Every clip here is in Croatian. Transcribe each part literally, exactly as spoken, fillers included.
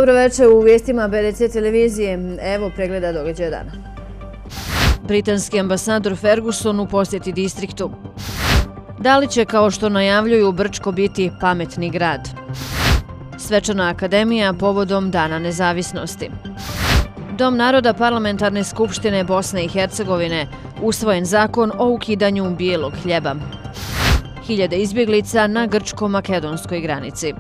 Dobro večer u vijestima B R C televizije. Evo pregleda događaja dana. Britanski ambasador Ferguson u posjeti distriktu. Da li će, kao što najavljuju, Brčko biti pametni grad? Svečana akademija povodom Dana nezavisnosti. Dom naroda Parlamentarne skupštine Bosne i Hercegovine, usvojen zakon o ukidanju bijelog hljeba. Hiljade izbjeglica na grčko-makedonskoj granici.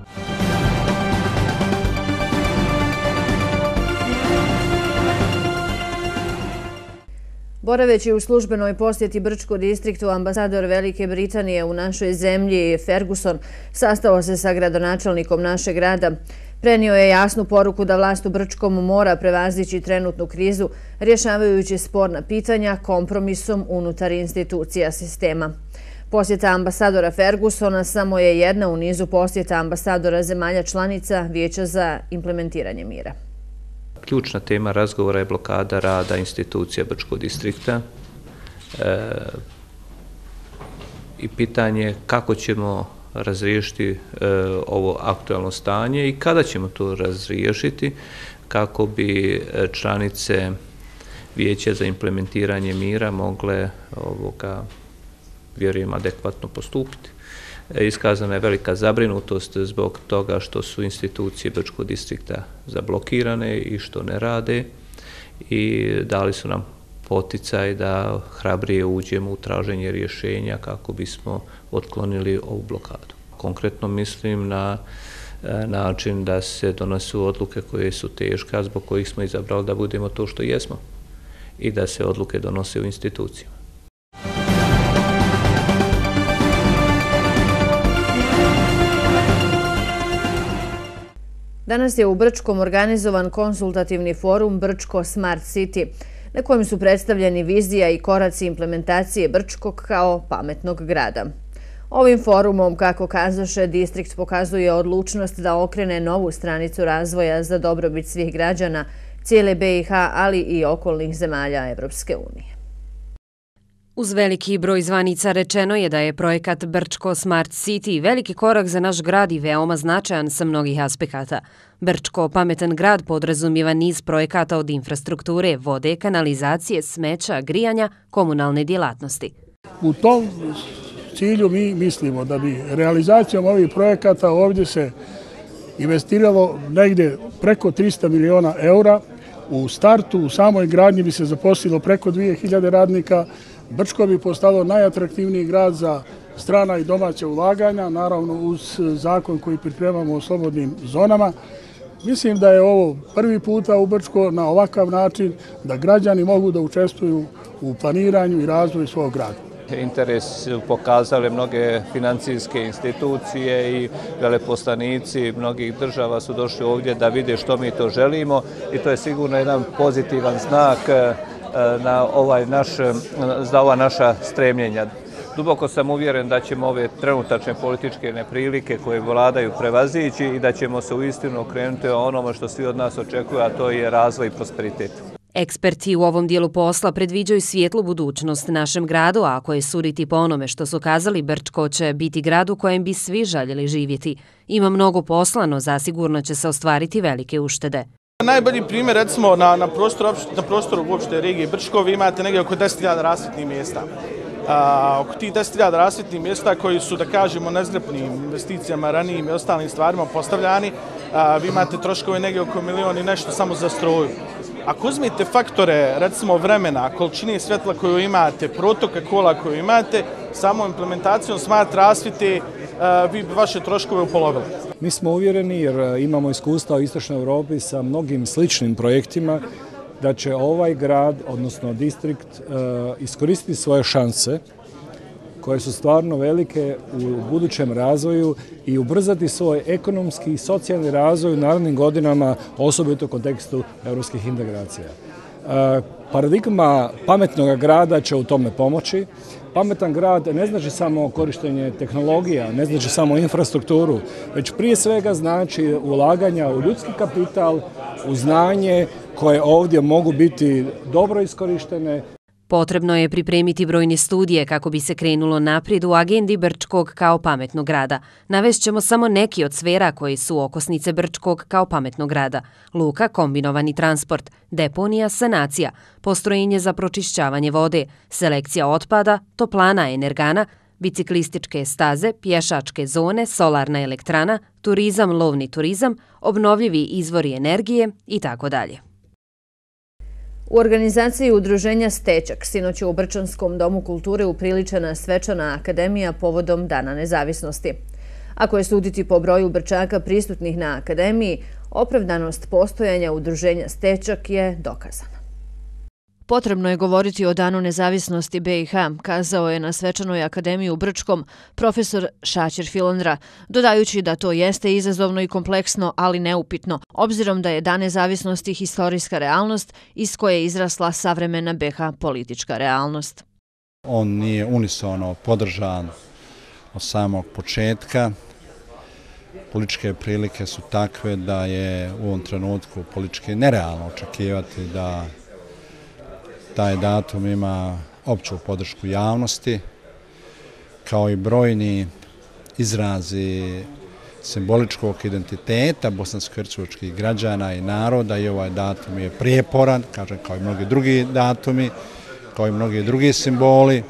Boraveći u službenoj posjeti Brčko distriktu, ambasador Velike Britanije u našoj zemlji Ferguson sastao se sa gradonačelnikom našeg grada. Prenio je jasnu poruku da vlast u Brčkom mora prevazići trenutnu krizu, rješavajući sporna pitanja kompromisom unutar institucija sistema. Posjeta ambasadora Fergusona samo je jedna u nizu posjeta ambasadora zemalja članica Vijeća za implementiranje mira. Ključna tema razgovora je blokada rada institucija Brčkog distrikta e, i pitanje kako ćemo razriješiti e, ovo aktualno stanje i kada ćemo to razriješiti kako bi članice Vijeća za implementiranje mira mogle ovoga, vjerujem, adekvatno postupiti. Iskazana je velika zabrinutost zbog toga što su institucije Brčkog distrikta zablokirane i što ne rade i dali su nam poticaj da hrabrije uđemo u traženje rješenja kako bismo otklonili ovu blokadu. Konkretno mislim na način da se donesu odluke koje su teške, zbog kojih smo izabrali da budemo to što jesmo i da se odluke donose u institucijama. Danas je u Brčkom organizovan konsultativni forum Brčko Smart City, na kojem su predstavljeni vizija i koraci implementacije Brčkog kao pametnog grada. Ovim forumom, kako kazaše, distrikt pokazuje odlučnost da okrene novu stranicu razvoja za dobrobit svih građana, cijele B i H, ali i okolnih zemalja Evropske unije. Uz veliki broj zvanica rečeno je da je projekat Brčko Smart City veliki korak za naš grad i veoma značajan sa mnogih aspekata. Brčko pametan grad podrazumijeva niz projekata od infrastrukture, vode, kanalizacije, smeća, grijanja, komunalne djelatnosti. U tom cilju mi mislimo da bi realizacijom ovih projekata ovdje se investiralo negdje preko trista miliona eura. U startu, u samoj gradnji bi se zaposlilo preko dvije hiljade radnika. Brčko bi postalo najatraktivniji grad za strana i domaća ulaganja, naravno uz zakon koji pripremamo o slobodnim zonama. Mislim da je ovo prvi puta u Brčko na ovakav način da građani mogu da učestvuju u planiranju i razvoju svog grada. Interes su pokazale mnoge financijske institucije i veleposlanici mnogih država su došli ovdje da vide što mi to želimo i to je sigurno jedan pozitivan znak na ovaj naš, za ova naša stremljenja. Duboko sam uvjeren da ćemo ove trenutačne političke neprilike koje vladaju prevazići i da ćemo se uistinu okrenuti o onome što svi od nas očekuju, a to je razvoj i prosperitet. Eksperti u ovom dijelu posla predviđaju svijetlu budućnost našem gradu, a ako je suditi po onome što su kazali, Brčko će biti grad u kojem bi svi željeli živjeti. Ima mnogo posla, no zasigurno će se ostvariti velike uštede. Najbolji primjer, recimo, na, na, prostoru, na prostoru uopšte regije Brčko, vi imate negdje oko deset hiljada rasvjetnih mjesta. A, oko tih deset hiljada rasvjetnih mjesta koji su, da kažemo, nezgrapnim investicijama, ranijim i ostalim stvarima postavljani, a, vi imate troškove negdje oko milion i nešto samo za struju. Ako uzmete faktore, recimo vremena, količine svjetla koju imate, protoka kola koju imate, samo implementacijom smart rasvjete vi bi vaše troškove upolovili. Mi smo uvjereni, jer imamo iskustva u Istočnoj Europi sa mnogim sličnim projektima, da će ovaj grad, odnosno distrikt, iskoristiti svoje šanse koje su stvarno velike u budućem razvoju i ubrzati svoj ekonomski i socijalni razvoj u narednim godinama, osobito u kontekstu europskih integracija. Paradigma pametnog grada će u tome pomoći. Pametan grad ne znači samo korištenje tehnologija, ne znači samo infrastrukturu, već prije svega znači ulaganja u ljudski kapital, u znanje koje ovdje mogu biti dobro iskorištene. Potrebno je pripremiti brojne studije kako bi se krenulo naprijed u agendi Brčkog kao pametnog grada. Navešćemo samo neki od sfera koji su okosnice Brčkog kao pametnog grada. Luka, kombinovani transport, deponija, sanacija, postrojenje za pročišćavanje vode, selekcija otpada, toplana energana, biciklističke staze, pješačke zone, solarna elektrana, turizam, lovni turizam, obnovljivi izvori energije i tako dalje. U organizaciji udruženja Stečak sinoć je u Brčanskom domu kulture upriličena svečana akademija povodom Dana nezavisnosti. Ako je suditi po broju Brčaka prisutnih na akademiji, opravdanost postojanja udruženja Stečak je dokazana. Potrebno je govoriti o Danu nezavisnosti be i ha, kazao je na svečanoj akademiji u Brčkom profesor Šaćer Filandra, dodajući da to jeste izazovno i kompleksno, ali neupitno, obzirom da je Dan nezavisnosti historijska realnost iz koje je izrasla savremena be ha politička realnost. On nije unisono podržan od samog početka. Političke prilike su takve da je u ovom trenutku politički nerealno očekivati da taj datum ima opću podršku javnosti, kao i brojni izrazi simboličkog identiteta bosansko-hercegovačkih građana i naroda, i ovaj datum je prijeporan, kažem, kao i mnogi drugi datumi, kao i mnogi drugi simboli,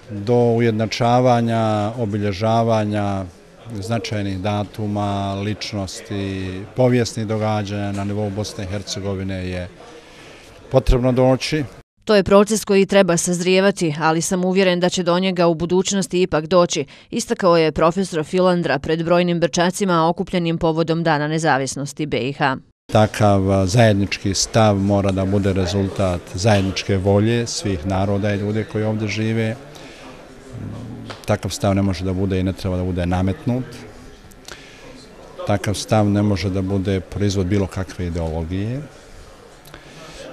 do ujednačavanja, obilježavanja značajnih datuma, ličnosti, povijesnih događanja na nivou Bosne i Hercegovine je potrebno doći. To je proces koji treba sazrijevati, ali sam uvjeren da će do njega u budućnosti ipak doći, istakao je profesor Filandra pred brojnim Brčacima okupljenim povodom Dana nezavisnosti be i ha. Takav zajednički stav mora da bude rezultat zajedničke volje svih naroda i ljudi koji ovdje žive. Takav stav ne može da bude i ne treba da bude nametnut. Takav stav ne može da bude proizvod bilo kakve ideologije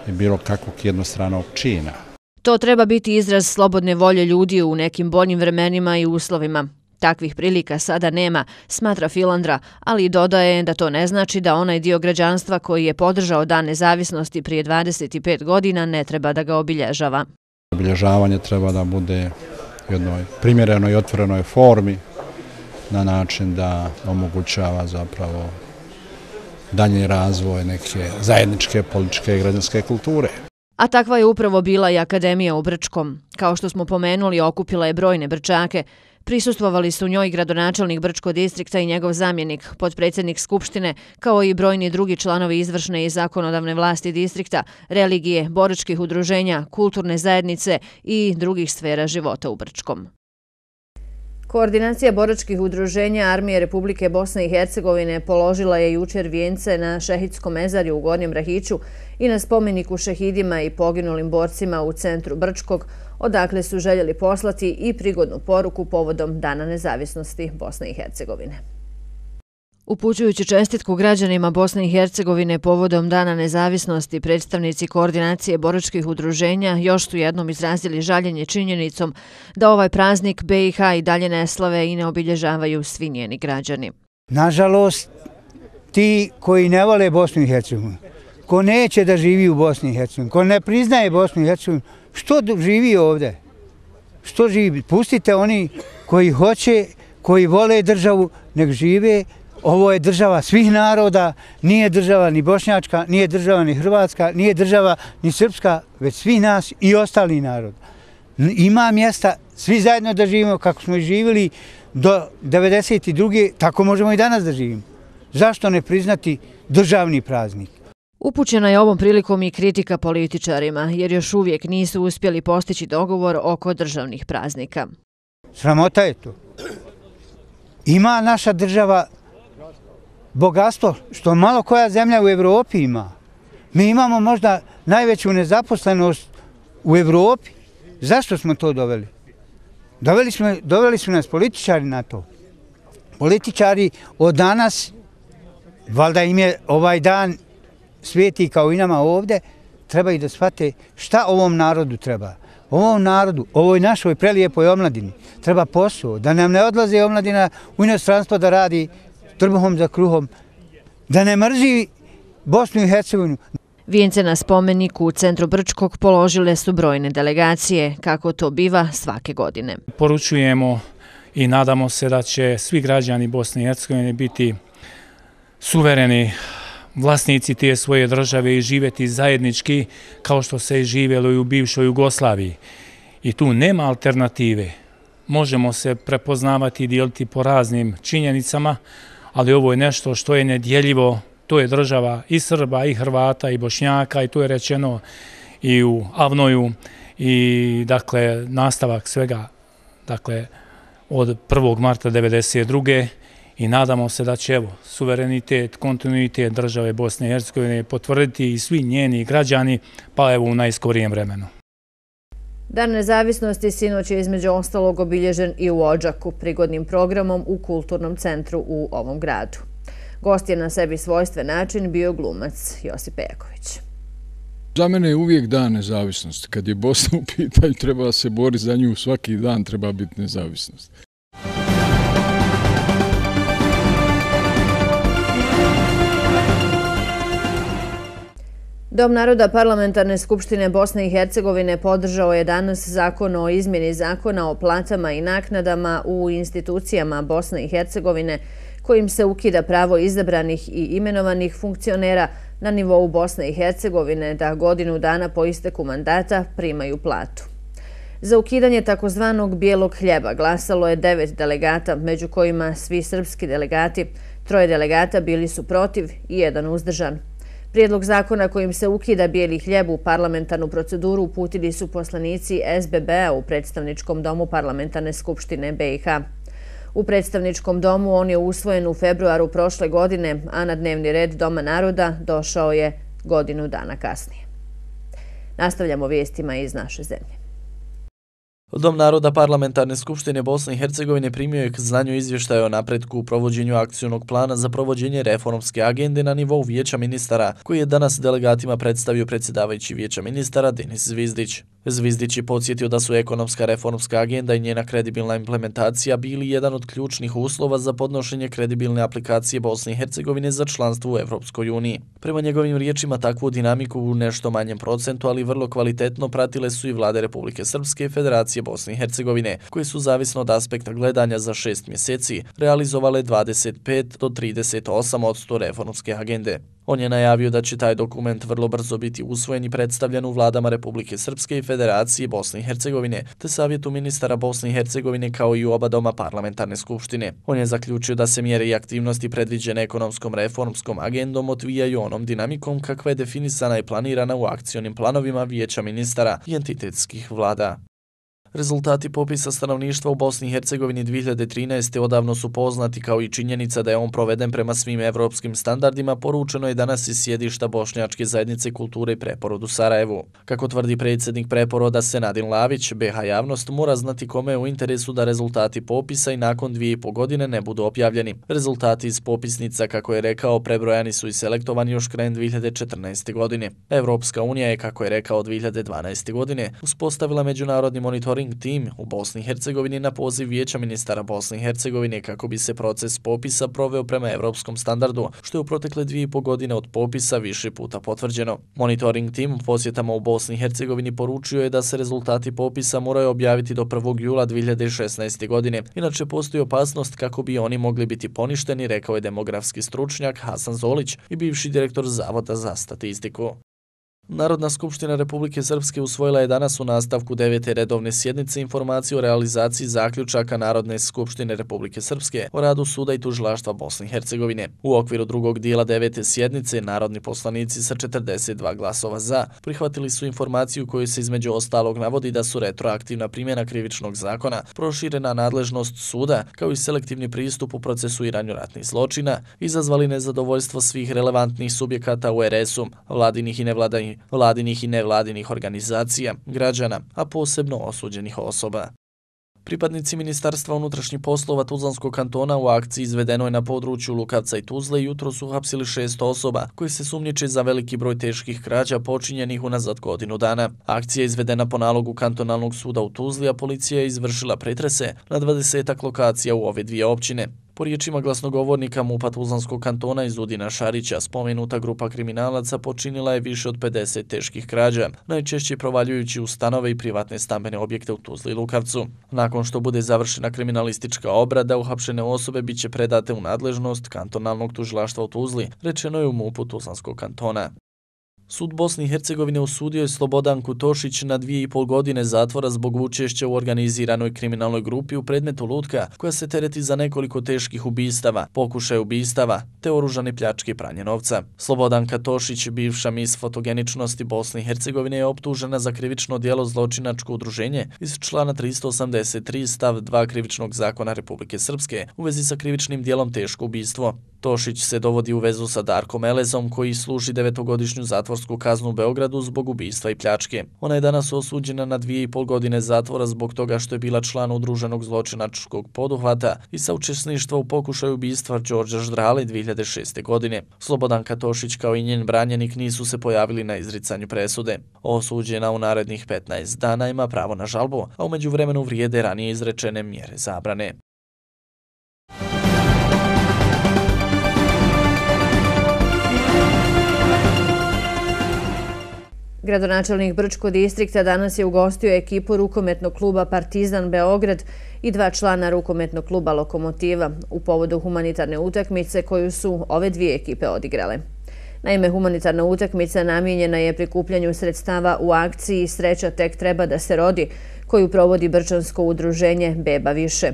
i bilo kakvog jednostranog čina. To treba biti izraz slobodne volje ljudi u nekim boljim vremenima i uslovima. Takvih prilika sada nema, smatra Filandra, ali dodaje da to ne znači da onaj dio građanstva koji je podržao Dan nezavisnosti prije dvadeset pet godina ne treba da ga obilježava. Obilježavanje treba da bude u jednoj primjerenoj i otvorenoj formi na način da omogućava zapravo dalji razvoj neke zajedničke političke i građanske kulture. A takva je upravo bila i akademija u Brčkom. Kao što smo pomenuli, okupila je brojne Brčake. Prisustvovali su njoj gradonačelnik Brčko distrikta i njegov zamjenik, potpredsjednik Skupštine, kao i brojni drugi članovi izvršne i zakonodavne vlasti distrikta, religije, boračkih udruženja, kulturne zajednice i drugih sfera života u Brčkom. Koordinacija boračkih udruženja Armije Republike Bosne i Hercegovine položila je jučer vijence na Šehidskom mezarju u Gornjem Rahiću i na spomeniku šehidima i poginulim borcima u centru Brčkog, odakle su željeli poslati i prigodnu poruku povodom Dana nezavisnosti Bosne i Hercegovine. Upućujući čestitku građanima Bosne i Hercegovine povodom Dana nezavisnosti, predstavnici koordinacije boračkih udruženja još su jednom izrazili žaljenje činjenicom da ovaj praznik be i ha i dalje ne slave i ne obilježavaju svi njeni građani. Nažalost, ti koji ne vole Bosnu i Hercegovinu, ko neće da živi u Bosni i Hercegovini, ko ne priznaje Bosnu i Hercegovinu, što živi ovdje? Što živi? Pustite oni koji hoće, koji vole državu, nek žive. Ovo je država svih naroda, nije država ni bošnjačka, nije država ni hrvatska, nije država ni srpska, već svih nas i ostali narod. Ima mjesta svi zajedno da živimo kako smo i živjeli do devedeset druge. Tako možemo i danas da živimo. Zašto ne priznati državni praznik? Upućena je ovom prilikom i kritika političarima, jer još uvijek nisu uspjeli postići dogovor oko državnih praznika. Sramota je to. Ima naša država bogatstvo što malo koja zemlja u Evropi ima. Mi imamo možda najveću nezaposlenost u Evropi. Zašto smo to doveli? Doveli smo, doveli su nas političari na to. Političari od danas, valjda im je ovaj dan sveti kao i nama ovdje, treba i da shvate šta ovom narodu treba. Ovom narodu, ovoj našoj prelijepoj omladini treba posao, da nam ne odlaze omladina u inostranstvo da radi trbuhom za kruhom, da ne mrzi Bosnu i Hercegovinu. Vijence na spomeniku u centru Brčkog položile su brojne delegacije, kako to biva svake godine. Poručujemo i nadamo se da će svi građani Bosne i Hercegovine biti suvereni vlasnici te svoje države i živjeti zajednički kao što se je živjelo i u bivšoj Jugoslaviji. I tu nema alternative. Možemo se prepoznavati i dijeliti po raznim činjenicama, ali ovo je nešto što je nedjeljivo. To je država i Srba, i Hrvata, i Bošnjaka, i to je rečeno i u Avnoju, i dakle nastavak svega dakle od prvog marta devedeset druge i nadamo se da će evo suverenitet, kontinuitet države Bosne i Hercegovine potvrditi i svi njeni građani, pa evo u najskorijem vremenu. Dan nezavisnosti sinoć je između ostalog obilježen i u Odžaku prigodnim programom u kulturnom centru u ovom gradu. Gost je na sebi svojstven način bio glumac Josip Pejaković. Za mene je uvijek dan nezavisnosti. Kad je Bosna u pitanju, treba se boriti za nju, svaki dan treba biti nezavisnost. Dom naroda Parlamentarne skupštine Bosne i Hercegovine podržao je danas zakon o izmjeni zakona o platama i naknadama u institucijama Bosne i Hercegovine, kojim se ukida pravo izabranih i imenovanih funkcionera na nivou Bosne i Hercegovine da godinu dana po isteku mandata primaju platu. Za ukidanje takozvanog bijelog hljeba glasalo je devet delegata, među kojima svi srpski delegati. Troje delegata bili su protiv i jedan uzdržan. Prijedlog zakona kojim se ukida bijeli hljeb u parlamentarnu proceduru uputili su poslanici S B B-a u predstavničkom domu Parlamentarne skupštine B i H. U predstavničkom domu on je usvojen u februaru prošle godine, a na dnevni red Doma naroda došao je godinu dana kasnije. Nastavljamo vijestima iz naše zemlje. Dom naroda Parlamentarne skupštine Bosne i Hercegovine primio je k znanju izvještaja o napretku u provođenju akcionog plana za provođenje reformske agende na nivou Vijeća ministara, koji je danas delegatima predstavio predsjedavajući Vijeća ministara Denis Zvizdić. Zvizdić je podsjetio da su ekonomska reformska agenda i njena kredibilna implementacija bili jedan od ključnih uslova za podnošenje kredibilne aplikacije Bosne i Hercegovine za članstvo u Evropskoj uniji. Prema njegovim riječima, takvu dinamiku u nešto manjem procentu, ali vrlo kvalitetno pratile su i vlade Republike Srpske i Federacije Bosne i Hercegovine, koje su zavisno od aspekta gledanja za šest mjeseci realizovale dvadeset pet do trideset osam posto reformske agende. On je najavio da će taj dokument vrlo brzo biti usvojen i predstavljen u vladama Republike Srpske i Federacije Bosne i Hercegovine, te Savjetu ministara Bosne i Hercegovine kao i u oba doma Parlamentarne skupštine. On je zaključio da se mjere i aktivnosti predviđene ekonomskom reformskom agendom odvijaju onom dinamikom kakva je definisana i planirana u akcionim planovima Vijeća ministara i entitetskih vlada. Rezultati popisa stanovništva u Bosni i Hercegovini dvije hiljade trinaeste. odavno su poznati, kao i činjenica da je on proveden prema svim evropskim standardima, poručeno je danas iz sjedišta Bošnjačke zajednice kulture i Preporod u Sarajevu. Kako tvrdi predsjednik Preporoda Senadin Lavić, B H javnost mora znati kome je u interesu da rezultati popisa i nakon dvije i po godine ne budu objavljeni. Rezultati iz popisnica, kako je rekao, prebrojani su i selektovani još krajem dvije hiljade četrnaeste. godine. Evropska unija je, kako je rekao, dvije hiljade dvanaeste. godine uspostavila međunarodni monitoring tim u Bosni i Hercegovini na poziv Vijeća ministara Bosne i Hercegovine kako bi se proces popisa proveo prema evropskom standardu, što je u protekle dvije i po godine od popisa više puta potvrđeno. Monitoring tim u posjetama u Bosni i Hercegovini poručio je da se rezultati popisa moraju objaviti do prvog jula dvije hiljade šesnaeste. godine, inače postoji opasnost kako bi oni mogli biti poništeni, rekao je demografski stručnjak Hasan Zolić i bivši direktor Zavoda za statistiku. Narodna skupština Republike Srpske usvojila je danas u nastavku devete redovne sjednice informaciju o realizaciji zaključaka Narodne skupštine Republike Srpske o radu suda i tužilaštva Bosne i Hercegovine. U okviru drugog dijela devete sjednice narodni poslanici sa četrdeset dva glasova za prihvatili su informaciju koju se između ostalog navodi da su retroaktivna primjena krivičnog zakona, proširena nadležnost suda kao i selektivni pristup u procesuiranju ratnih zločina izazvali nezadovoljstvo svih relevantnih subjekata u R S-u, vladinih i nevladinih vladinih i nevladinih organizacija, građana, a posebno osuđenih osoba. Pripadnici Ministarstva unutrašnjih poslova Tuzlanskog kantona u akciji izvedenoj na području Lukavca i Tuzle jutro su uhapsili šest osoba koji se sumnjiče za veliki broj teških krađa počinjenih unazad godinu dana. Akcija je izvedena po nalogu kantonalnog suda u Tuzli, a policija je izvršila pretrese na dvadesetak lokacija u ove dvije općine. Po riječima glasnogovornika MUP-a Tuzlanskog kantona Izudina Šarića, spomenuta grupa kriminalaca počinila je više od pedeset teških krađa, najčešće provaljujući u stanove i privatne stambene objekte u Tuzli i Lukavcu. Nakon što bude završena kriminalistička obrada, uhapšene osobe biće predate u nadležnost kantonalnog tužilaštva u Tuzli, rečeno je u MUP-u Tuzlanskog kantona. Sud Bosne i Hercegovine osudio je Slobodanku Tošić na dvije i pol godine zatvora zbog učešća u organiziranoj kriminalnoj grupi u predmetu Lutka, koja se tereti za nekoliko teških ubistava, pokušaj ubistava, te oružane pljačke i pranje novca. Slobodanka Tošić, bivša mis fotogeničnosti Bosne i Hercegovine, je optužena za krivično djelo zločinačko udruženje iz člana tristo osamdeset tri stav dva Krivičnog zakona Republike Srpske u vezi sa krivičnim djelom teško ubistvo. Tošić se dovodi u vezu sa Darkom Elezom, koji služi devetogodišnju zatvorsku kaznu u Beogradu zbog ubistva i pljačke. Ona je danas osuđena na dvije i pol godine zatvora zbog toga što je bila član udruženog zločinačkog poduhvata i saučesništva u pokušaju ubistva Đorđa Ždrale dvije hiljade šeste. godine. Slobodanka Tošić kao i njen branjenik nisu se pojavili na izricanju presude. Osuđena u narednih petnaest dana ima pravo na žalbu, a u međuvremenu vrijede ranije izrečene mjere zabrane. Gradonačelnik Brčko distrikta danas je ugostio ekipu rukometnog kluba Partizan Beograd i dva člana rukometnog kluba Lokomotiva u povodu humanitarne utakmice koju su ove dvije ekipe odigrale. Naime, humanitarna utakmica namijenjena je prikupljanju sredstava u akciji Sreća tek treba da se rodi, koju provodi Brčansko udruženje Beba više.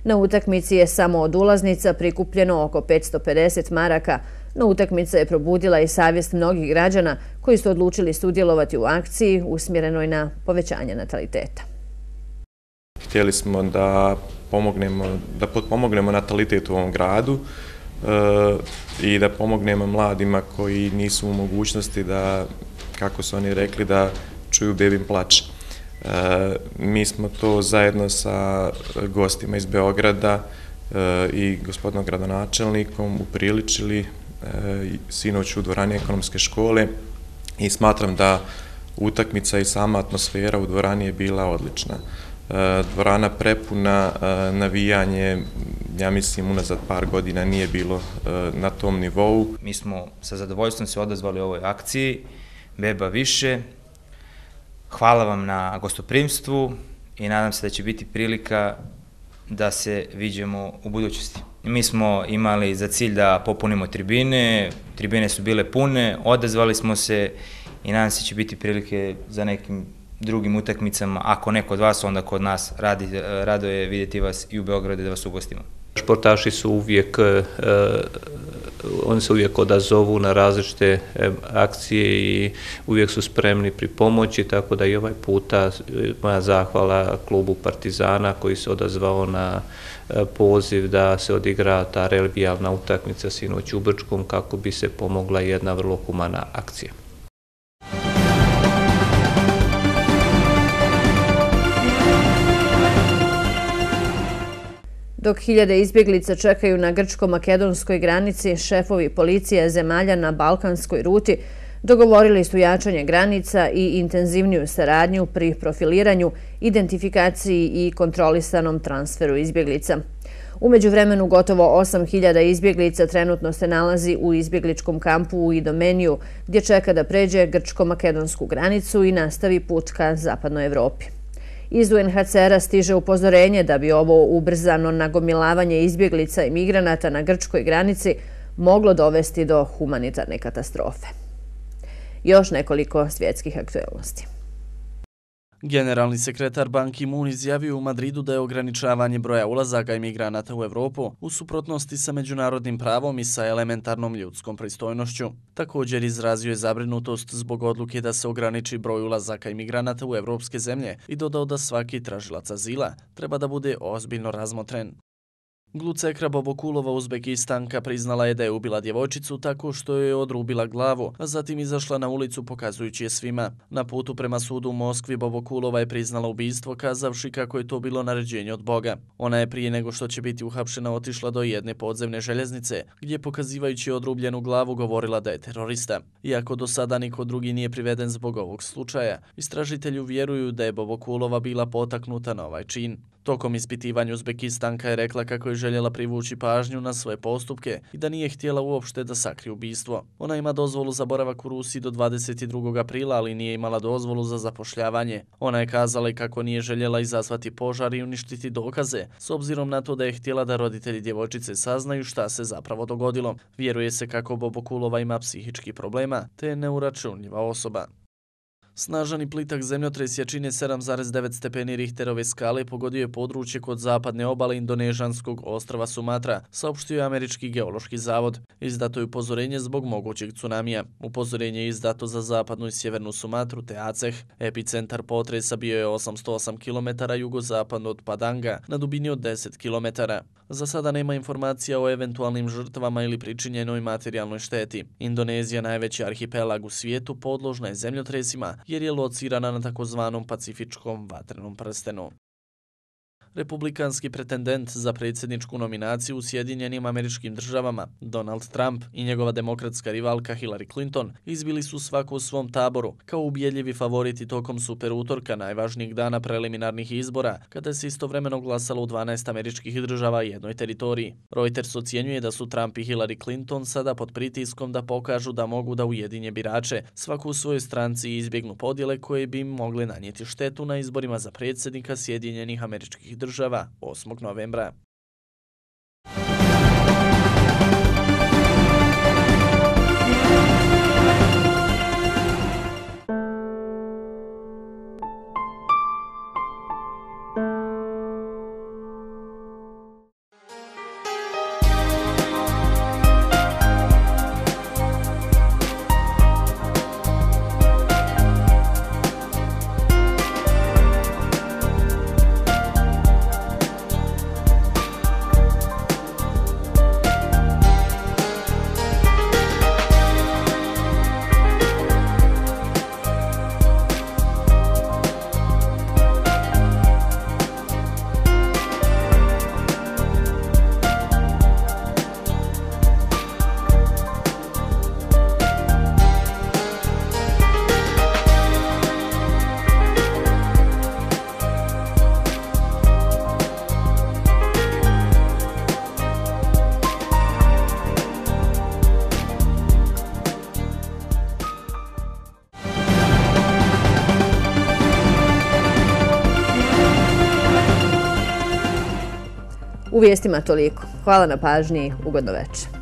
Na utakmici je samo od ulaznica prikupljeno oko petsto pedeset maraka, no utakmica je probudila i savjest mnogih građana koji su odlučili sudjelovati u akciji usmjerenoj na povećanje nataliteta. Htjeli smo da pomognemo, da potpomognemo natalitet u ovom gradu e, i da pomognemo mladima koji nisu u mogućnosti da, kako su oni rekli, da čuju bebin plać. E, mi smo to zajedno sa gostima iz Beograda e, i gospodinom gradonačelnikom upriličili sinoć u dvorani ekonomske škole i smatram da utakmica i sama atmosfera u dvorani je bila odlična. Dvorana prepuna, navijanje, ja mislim, unazad par godina nije bilo na tom nivou. Mi smo sa zadovoljstvom se odazvali ovoj akciji, Beba više. Hvala vam na gostoprimstvu i nadam se da će biti prilika da se viđemo u budućnosti. Mi smo imali za cilj da popunimo tribine, tribine su bile pune, odazvali smo se i nadam se da će biti prilike za nekim drugim utakmicama. Ako neko od vas, onda kod nas radi, rado je vidjeti vas i u Beogradu da vas ugostimo. Športaši su uvijek, oni se uvijek odazovu na različite akcije i uvijek su spremni pri pomoći, tako da i ovaj puta moja zahvala klubu Partizana koji se odazvao na poziv da se odigra ta revijalna utakmica sinoć u Brčkom kako bi se pomogla jedna vrlo humana akcija. Dok hiljade izbjeglica čekaju na grčko-makedonskoj granici, šefovi policije zemalja na balkanskoj ruti dogovorili su jačanje granica i intenzivniju saradnju pri profiliranju, identifikaciji i kontrolisanom transferu izbjeglica. U međuvremenu gotovo osam hiljada izbjeglica trenutno se nalazi u izbjegličkom kampu u Idomeniju, gdje čeka da pređe grčko-makedonsku granicu i nastavi put ka zapadnoj Evropi. Iz U N H C R-a stiže upozorenje da bi ovo ubrzano nagomilavanje izbjeglica i migranata na grčkoj granici moglo dovesti do humanitarne katastrofe. Još nekoliko svjetskih aktuelnosti. Generalni sekretar Ban Ki-moon izjavio u Madridu da je ograničavanje broja ulazaka imigranata u Evropu u suprotnosti sa međunarodnim pravom i sa elementarnom ljudskom pristojnošću. Također izrazio je zabrinutost zbog odluke da se ograniči broj ulazaka imigranata u evropske zemlje i dodao da svaki tražilac azila treba da bude ozbiljno razmotren. Glucekra Bobokulova, Uzbekistanka, priznala je da je ubila djevojčicu tako što je odrubila glavu, a zatim izašla na ulicu pokazujući je svima. Na putu prema sudu u Moskvi Bobokulova je priznala ubistvo, kazavši kako je to bilo naređenje od Boga. Ona je prije nego što će biti uhapšena otišla do jedne podzemne željeznice, gdje pokazivajući odrubljenu glavu govorila da je terorista. Iako do sada niko drugi nije priveden zbog ovog slučaja, istražitelju vjeruju da je Bobokulova bila potaknuta na ovaj čin. Tokom ispitivanja Uzbekistanka je rekla kako je željela privući pažnju na svoje postupke i da nije htjela uopšte da sakrije ubistvo. Ona ima dozvolu za boravak u Rusiji do dvadeset drugog aprila, ali nije imala dozvolu za zapošljavanje. Ona je kazala i kako nije željela izazvati požar i uništiti dokaze, s obzirom na to da je htjela da roditelji djevojčice saznaju šta se zapravo dogodilo. Vjeruje se kako Bobokulova ima psihičkih problema, te je neuračunljiva osoba. Snažan i plitak zemljotres jačine sedam zarez devet stepeni Richterove skale pogodio je područje kod zapadne obale indonežanskog ostrva Sumatra, saopštio je Američki geološki zavod. Izdato je upozorenje zbog mogućeg tsunamija. Upozorenje je izdato za zapadnu i sjevernu Sumatru te Aceh. Epicentar potresa bio je osamsto osam kilometara jugozapadno od Padanga, na dubini od deset kilometara. Za sada nema informacija o eventualnim žrtvama ili pričinjenoj materijalnoj šteti. Indonezija, najveći arhipelag u svijetu, podložna je zemljotresima jer je locirana na takozvanom pacifičkom vatrenom prstenu. Republikanski pretendent za predsjedničku nominaciju u Sjedinjenim Američkim Državama, Donald Trump i njegova demokratska rivalka Hillary Clinton izbili su svako u svom taboru kao ubjedljivi favoriti tokom super utorka, najvažnijeg dana preliminarnih izbora, kada se istovremeno glasalo u dvanaest američkih država i jednoj teritoriji. Reuters ocjenjuje da su Trump i Hillary Clinton sada pod pritiskom da pokažu da mogu da ujedinje birače, svaku u svojoj stranci i izbjegnu podjele koje bi im mogle nanijeti štetu na izborima za predsjednika Sjedinjenih Američkih država osmog novembra. U vijestima toliko. Hvala na pažnji, ugodno večer.